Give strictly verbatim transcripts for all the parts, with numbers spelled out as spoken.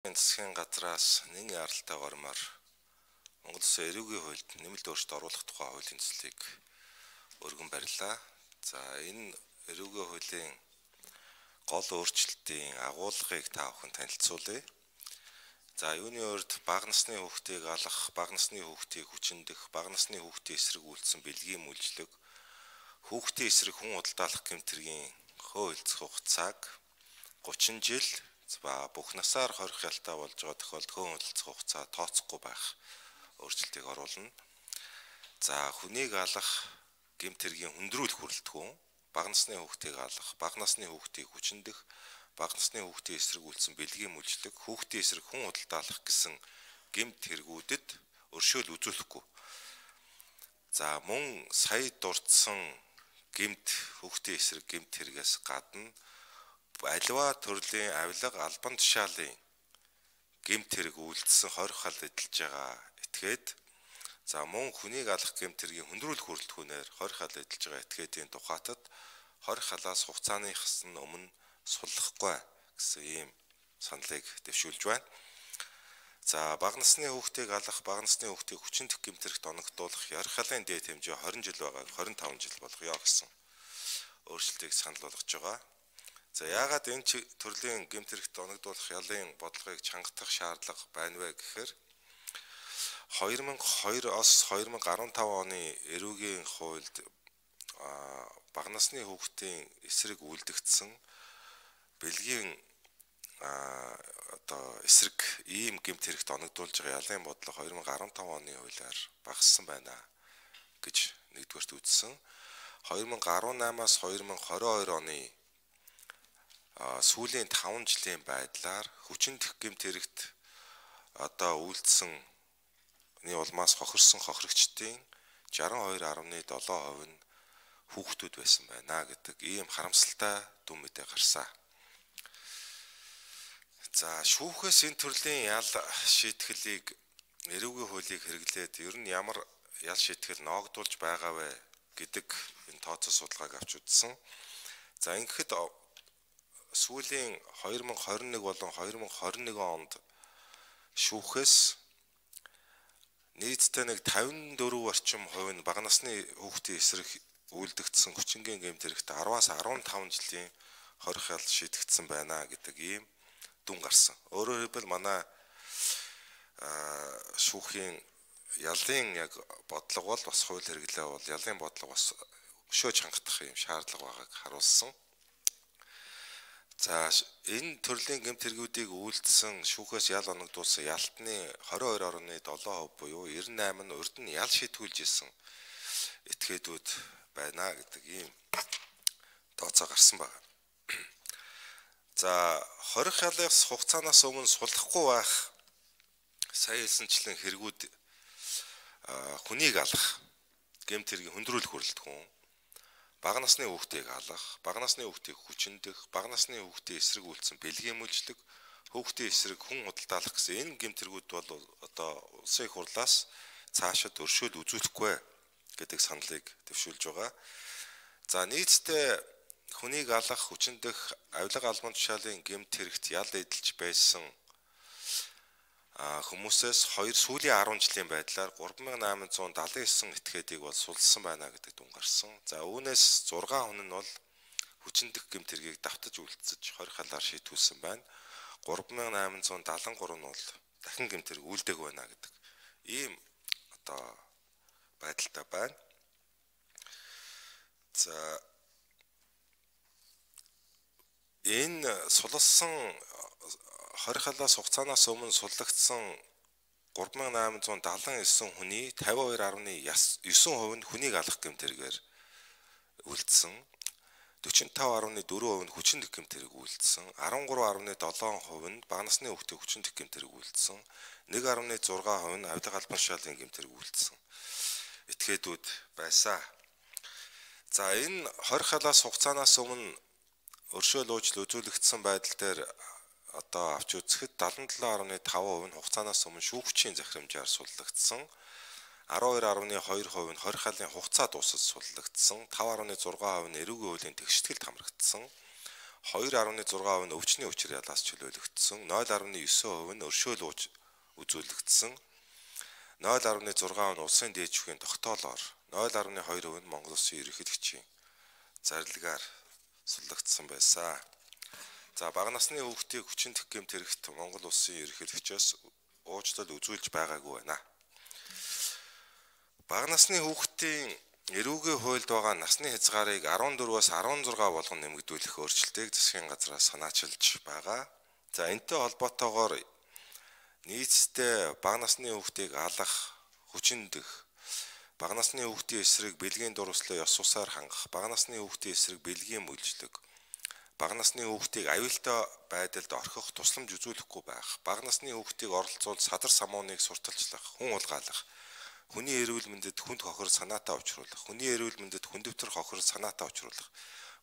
Засгийн газраас нэгэн яралтай гормоор Монгол Улсын эрүүгийн хуульд нэмэлт өөрчлөлт оруулах тухай хуулийн төслийг өргөн барьлаа. За энэ эрүүгийн хуулийн гол өөрчлөлтийн агуулгыг та бүхэн танилцуулъя. За юуны урд бага насны хүүхдийг алах, бага насны хүүхдийг хүчиндэх, бага насны хүүхдийн эсрэг үйлдсэн бэлгийн мүлжлэг, хүүхдийн эсрэг хүн удалдаалах гэмтэргийн хөөөлцөх хугацааг гучин жил ба бүх насаар хорих ялтай болж байгаа тохиолдолд хөн хөдөлцөх хугацаа тооцохгүй байх өөрчлөлтийг оруулна. За хүнийг алах гэмтэргийн хүндрүүлэх хүрэлтгүн, бага насны хүүхдийг алах, бага насны хүүхдийг хүчиндэх, бага насны хүүхдийн эсрэг үйлдсэн бэлгийн мүлжлэг, хүүхдийн эсрэг хүн удалдаалах гэсэн гэмт хэрэгүүдэд өршөөл үзүүлэхгүй. За мөн сая дурдсан гэмт хүүхдийн эсрэг гэмт хэрэгээс гадна аливаа төрлийн авилга албан тушаалын гэмт хэрэг үйлдэлсэн хорих хал эдэлж байгаа этгээд за мөн хүнийг алах гэмт хэргийн хүндрүүлэх хүрэлтгүүнээр хорих хал эдэлж байгаа этгээдийн тухайтад хорих халаас хугацааныхаас нь өмнө суллахгүй гэсэн ийм саналыг дэвшүүлж байна. За бага насны хүүхдийг алах, бага насны хүүхдийг хүчиндэх гэмт хэрэгт оногдуулах ярих халын дээд хэмжээ хорин жил байгааг хорин таван жил болгоё гэсэн өөрчлөлтийг санал болгож байгаа. За яагаад энэ төрлийн гэмт хэрэгт оногдуулах ялын бодлогыг чангатах шаардлага байна вэ гэхээр хоёр мянга и хоёр-оос хоёр мянга и арван таван оны эрүүгийн хуульд бага насны хүүхдийн эсрэг үйлдэгдсэн бэлгийн одоо эсрэг ийм гэмт хэрэгт оногдуулж байгаа ялын бодлого хоёр мянга и арван таван оны хуулиар багассан байна гэж нэгдүгээрт үзсэн. хоёр мянга и арван намаас хоёр мянга и хорин хоёр оны сүүлийн таван жилийн байдлаар хүчиндэх гэмт хэрэгт одоо үйлдэлсэнний улмаас хохирсон хохирогчдын шестдесет и два гаруй долоо хувь нь хүүхдүүд байсан байна гэдэг ийм харамсалтай дүн мэдээ гарсан. За шүүхээс энэ төрлийн ял шийтгэлийг эрүүгийн хуулийг хэрэглээд ер нь ямар ял шийтгэл ноогдуулж байгаа вэ гэдэг энэ тооцоо судалгааг авч үзсэн. За ингэхэд сүүлийн хоёр мянга и хорин нэг болон хоёр мянга и хорин нэгэн онд шүүхээс нийтдээ нэг тавин дөрвөн орчим хувь нь бага насны хүүхдийн эсрэг үйлдэгдсэн хүчингийн гэмт хэрэгт араваас арван таван жилийн хорих ял шийдэгдсэн байна гэдэг ийм дүн гарсан. Өөрөөр хэлбэл манай шүүхийн ялын яг бодлого бол бас хууль хэрэглээ бол ялын бодлого бас өшөөж хангах юм шаардлага байгааг харуулсан. За энэ төрлийн гэмт хэрэгүүдийг үйлдэлсэн шүүхээс ял оногдуулсан ялтны хорин хоёр гаруй долоо хувь буюу девяносто восемь нь урд нь ял шийтгүүлж исэн этгээдүүд байна гэдэг ийм тооцоо гарсан байна. За хорих ялын хугацаанаас өмнө суллахгүй байх сая хэлсэнчлэн хэрэгүүд хүнийг алах гэмт хэргийн хүндрүүлэх хүрэлтгүн, бага насны хүүхдийг алах, бага насны хүүхдийг хүчиндэх, бага насны хүүхдийн эсрэг үйлдсэн бэлгийн мүлжлэг, хүүхдийн эсрэг хүн удалдаалах гэсэн энэ гэмт хэрэгүүд бол одоо улсын их хурлаас цаашид өршөөл үзүүлэхгүй гэдэг саналыг дэвшүүлж байгаа. За нийтдээ хүнийг алах, хүчиндэх, авилга албан тушаалын гэмт хэрэгт ял эдэлж байсан хүмүүсээс хоёр сүүлийн арван жилийн байдлаар гурван мянган найман зуун далайн девять этгээдийг бол сулсан байна гэдэг дүн гарсан. За үүнээс зургаан хүн нь бол хүчиндэх гэмт хэргийг давтаж үйлдсэж хорих халаар шийтгүүлсэн байна. гурван мянган найман зуун даатан гурав нь бол дахин гэмт хэрэг үйлдэг байна гэдэг ийм одоо байдалтай байна. За энэ сулсан хорих халаас хугацаанаас өмнө суллагдсан гурван мянган найман зуун даатан девять хүний тавин хоёр гаруй девять хувь нь хүнийг алах гэмт хэрэгээр үйлдсэн, дөрвөн и таван гаруй дөрвөн хувь нь хүчиндэх гэмт хэрэг үйлдсэн, арван гурав гаруй долоо хувь нь бага насны хүүхдийг хүчиндэх гэмт хэрэг үйлдсэн, нэг гаруй зургаан хувь нь авилга албан тушаалын гэмт хэрэг үйлдсэн этгээдүүд байсан. За энэ хорих халаас хугацаанаас өмнө өршөөл уучлал үзүүлэгдсэн байдал дээр одоо авч үзэхэд семьдесят и семь гаруй таван хувь нь хугацаанаас өмнө шүүгчийн захирамжаар суллагдсан, арван хоёр гаруй хоёр хувь нь хорих халын хугацаа дуусаж суллагдсан, таван гаруй зургаан хувь нь эрүүгийн хуулийн тэгшгэлд хамрагдсан, хоёр гаруй зураг хувь нь өвчний хүчээр ялгаас чөлөөлөгдсөн, нуль гаруй девять хувь нь өршөөл үзүүлэгдсэн, нуль гаруй зураг хувь нь улсын дээд шүүхийн тогтоолоор, нуль гаруй хоёр хувь нь Монгол Улсын ерөнхийлөгчийн зарилгаар суллагдсан байсан. За бага насны хүүхдийг хүчин төхөөрөмт хэрэгт Монгол Улсын ерөнхийлөгчөөс уучлал үзүүлж байгаагүй байна. Бага насны хүүхдийн эрүүгийн хуульд байгаа насны хязгаарыг арван дөрвөөс арван зураг болгон нэмэгдүүлэх өөрчлөлтийг засгийн газраас санаачилж байгаа. За энэтэй холбоотойгоор нийцдээ бага насны хүүхдийг алах, хүчиндэх, бага насны хүүхдийн эсрэг бэлгийн дурлалыг ёс сусаар хангах, бага насны хүүхдийн эсрэг бэлгийн мүлжлэг, бага насны хүүхдийг аюултай байдалд орхих тусламж үзүүлэхгүй байх, бага насны хүүхдийг оролцуулж садар самууныг сурталчлах, хүн улгаалах, хүний эрүүл мэндэд хүнд хохир санаатаа учруулах, хүний эрүүл мэндэд хүндөвтөр хохир санаатаа учруулах,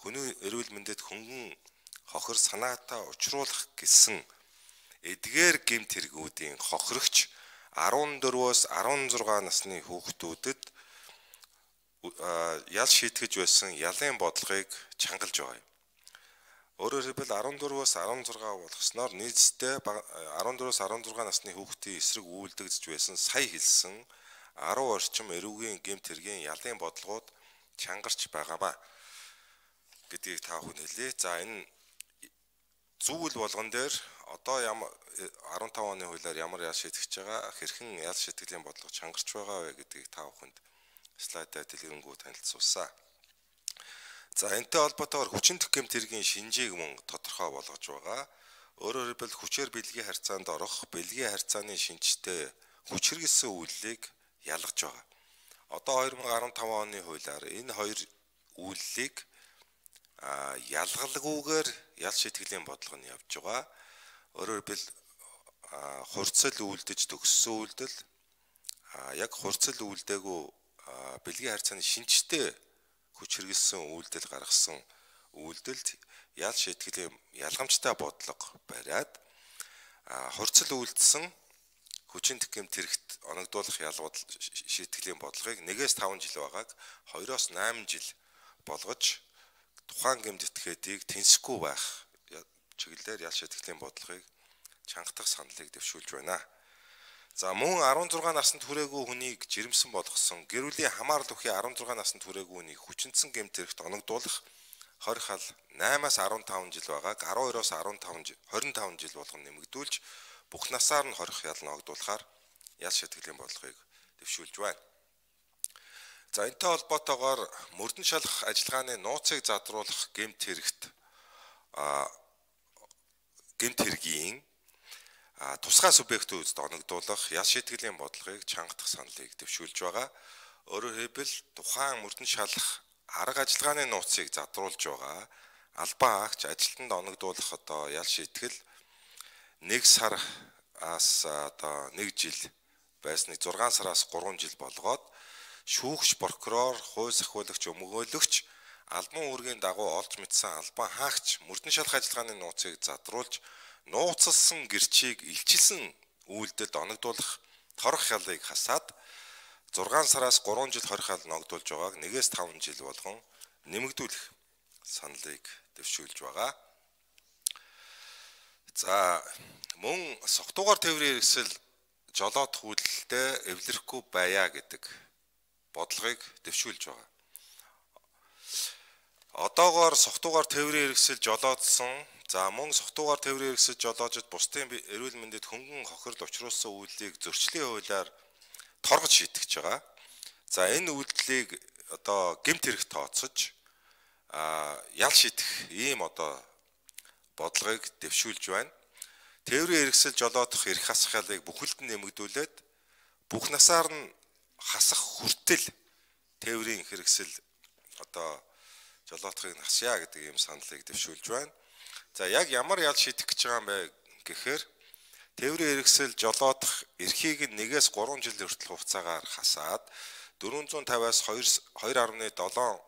хүний эрүүл мэндэд хөнгөн хохир санаатаа учруулах гэсэн эдгээр гэмт хэрэгүүдийн хохирогч арван дөрвөөс арван зураг насны хүүхдүүдэд ял шийтгэж байсан ялын бодлогыг чангалж байгаа юм. Өөрөөр хэлбэл арван дөрвөөс арван зураг болгосноор нийцдээ арван дөрвөөс арван зураг насны хүүхдийн эсрэг үйлдэгдэж байсан сая хэлсэн арван орчим эрүүгийн гэмт хэргийн ялын бодлогууд чангарч байгаамаа гэдгийг та бүхэн хэлье. За энэ зүйл болгон дээр одоо ямар арван таван оны хуулиар ямар ял шийтгэж байгаа, хэрхэн ял шийтгэлийн бодлого чангарч байгаа вэ гэдгийг та бүхэнд слайдаар дэлгэрэнгүй танилцуулсан. За энэтэй холбоотойгоор хүчин төхөөрөмт хэргийн шинжийг мөн тодорхой болгож байгаа. Өөрөөр хэлбэл хүчээр бэлгийн харьцаанд орох, бэлгийн харьцааны шинжтэй хүч хэрэгэлсэн үйллийг ялгаж байгаа. Одоо хоёр мың арван таван оны хуулиар энэ хоёр үйллийг ялгалгүйгээр ял шийтгэлийн бодлого нь явж байгаа. Өөрөөр хэлбэл хурцл үйлдэж төгссөн үйлдэл, яг хурцл үйлдээгүй бэлгийн харьцааны шинжтэй хүч хэрэгэлсэн үйлдэл гаргасан үйлдэлд ял шийтгэлийн ялгамжтай бодлого бариад хурцл үйлдсэн хүчин төхөөрөмт хэрэгт оногдуулах ялгууд шийтгэлийн бодлогыг нэгээс таван жил байгааг хоёроос найман жил болгож тухайн гэмт этгээдийг тэнцэхгүй байх чиглэлээр ял шийтгэлийн бодлогыг чангатах саналыг дэвшүүлж байна. За мөн арван зураг наснд хүрээгүй хүнийг жирэмсэн болгосон, гэр бүлийн хамаарал бүхий арван зураг наснд хүрээгүй хүнийг хүчинсэн гэмт хэрэгт оногдуулах хорих хал наймаас арван таван жил байгааг арван хоёроос арван таван хорин таван жил болгон нэмэгдүүлж бүх насаар нь хорих ял ногдуулахаар ял шийтгэлийн бодлогыг дэвшүүлж байна. За энэтэй холбоотойгоор мөрдөн шалах ажиллагааны нууцыг задруулах гэмт хэрэгт гэмт хэргийн тусгай субъектүүдэд оногдуулах ял шийтгэлийн бодлогыг чангатах саналыг дэвшүүлж байгаа. Өөрөөр хэлбэл тухайн мөрдөн шалах арга ажиллагааны нууцыг задруулж байгаа албан агч ажилтнанд оногдуулах одоо ял шийтгэл нэг сараас одоо нэг жил байсныг зургаан сараас гурван жил болгоод шүүгч, прокурор, хууль сахиулагч, өмгөөлөгч албан үүргийн дагуу олж мэдсэн албан хаагч мөрдөн шалах ажиллагааны нууцыг задруулж нууцлсан гэрчийг илчилсэн үйлдэлд оногдуулах хорих ялыг хасаад зургаан сараас гурван жил хорих ял ногдуулж байгааг нэгээс таван жил болгон нэмэгдүүлэх саналыг дэвшүүлж байгаа. За мөн согтуугаар тээврийн хэрэгсэл жолоодох үйлдэлтэй эвлэрэхгүй байя гэдэг бодлогыг дэвшүүлж байгаа. Одоогоор согтуугаар тээврийн хэрэгсэл жолоодсон, за мөн согтуугаар тээврийн хэрэгсэл жолоожид бусдын эрүүл мэндэд хөнгөн хохирол учруулсан үйлдэлийг зөрчлийн хуулиар торгож шийтгэж байгаа. За энэ үйлдэлийг одоо гэмт хэрэгт тооцож ял шийдэх ийм одоо бодлогыг дэвшүүлж байна. Тээврийн хэрэгсэл жолоодох эрх хасах ялыг бүхэлд нь нэмэгдүүлээд бүх насаар нь хасах хүртэл тээврийн хэрэгсэл одоо жолоодохыг хасъя гэдэг ийм саналыг дэвшүүлж байна. За яг ямар ял шийдэх гэж байгаа юм бэ гэхээр тээврийн хэрэгсэл жолоодох эрхийг нэгээс гурван жил хүртэл хугацаагаар хасаад дөрвөн зуун тавиас хоёр гаруй долоон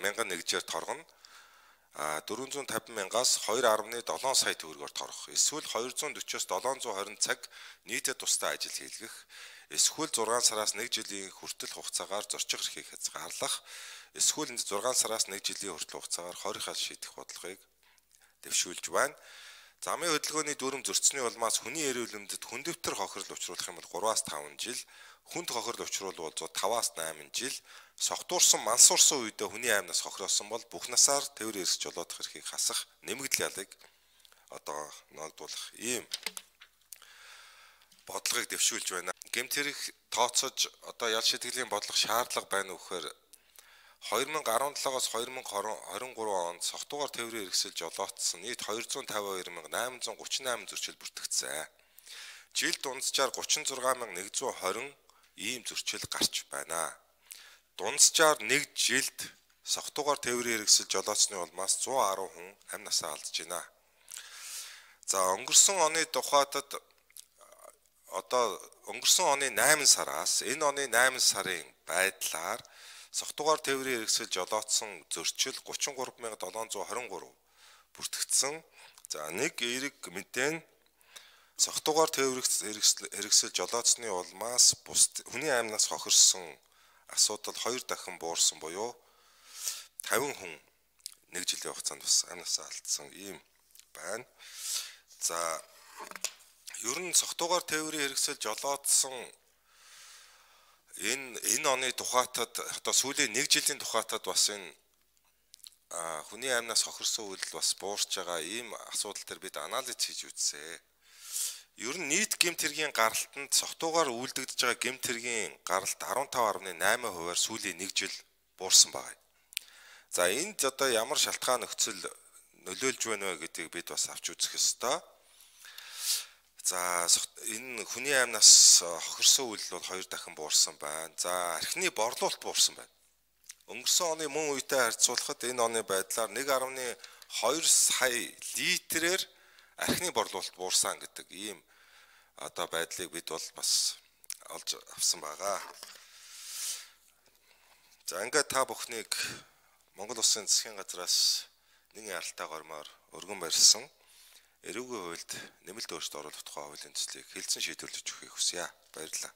мянган нэгжээр торгоно. дөрвөн зуун тавин мянгаас хоёр гаруй долоон сая төгрөгөөр торгох. Эсвэл хоёр зуун дөрвөөс долоон зуун хорин цаг нийтэд тусдаа ажил хийлгэх. Эсвэл зургаан сараас нэг жилийн хүртэл хугацаагаар зорчих эрхийг хязгаарлах. Эсвэл зургаан сараас нэг жилийн хүртэл хугацаагаар хойрхол шийдэх бодлогыг дэвшүүлж байна. Замын хөдөлгөөний дүрм зөрчсөний улмаас хүний эрүүл мэндэд хүндэвтэр хохирол учруулах юм бол гураваас таван жил, хүнд хохирол учруулвал таваас найман жил, согтуурсан, мансуурсан үедээ хүний аймнаас хохироосон бол бүх насаар тээврийн эрсэж жолоодох эрхийг хасах нэмэгдэл ялыг одоо ногдуулах ийм бодлогыг дэвшүүлж байна. Гэмт хэрэг тооцож одоо ял шийтгэлийн бодлого шаардлага байна уу гэхээр хоёр мянга арван жилээс хоёр мянга хорин гурав онд согтуугаар тээврийн эрсэл жолоодсон нийт хоёр зуун тавин хоёр мянга найман зуун гуравч найман зөрчил бүртгэгдсэн. Жил дунджаар гуравч зургаан мянга нэг зуун хорин ийм зөрчил гарч байна. Дунджаар нэг жилд согтуугаар тээврийн эрсэл жолоодсны улмаас зуун арван хүн амь насаа алдж байна. За өнгөрсөн оны тухайтад одоо өнгөрсөн оны найман сараас энэ оны найман сарын байдлаар согтуугаар тээврийн эрсэл жолоодсон зөрчил гуравч гурав мянга долоон зуун хорин гурав бүртгэгдсэн. За нэг эерэг мэдэн согтуугаар тээврийн эрсэл жолоодсны улмаас бус хүний аймнаас хохирсон асуудал хоёр дахин буурсан буюу тавин хүн нэг жилийн хугацаанд бас амнасаа алдсан ийм байна. За ер нь согтуугаар тээврийн эрсэл жолоодсон энэ энэ оны тухайтад одоо сүүлийн нэг жилийн тухайтад бас энэ хүний аймнаас хохирсон үйл бас буурч байгаа ийм асуудал төр бид анализ хийж үзсэн. Ер нь нийт гэмт хэргийн гаралтанд согтуугаар үйлдэгдэж байгаа гэмт хэргийн гаралт арван таван гаруй найман хувиар сүүлийн нэг жил буурсан байна. За энд одоо ямар шалтгаан нөхцөл нөлөөлж байна вэ гэдгийг бид бас авч үзэх ёстой. За энэ хүний аймнаас хохирсон үйл бол хоёр дахин буурсан байна. За архины борлуулалт буурсан байна. Өнгөрсөн оны мөн үетэй харьцуулахад энэ оны байдлаар нэг гаруй хоёр сая литрээр архины борлуулалт буурсан гэдэг ийм одоо байдлыг бид бол бас олж авсан байгаа. За ингээд та бүхнийг Монгол Улсын засгийн газраас нэгэн яралтай гормоор өргөн барьсан эрүүгийн хуульд нэмэлт өөрчлөлт оруулах тухай хуулийн төслийг хэлсэн шийдвэрлэж өгөхийг хүсье. Баярлалаа.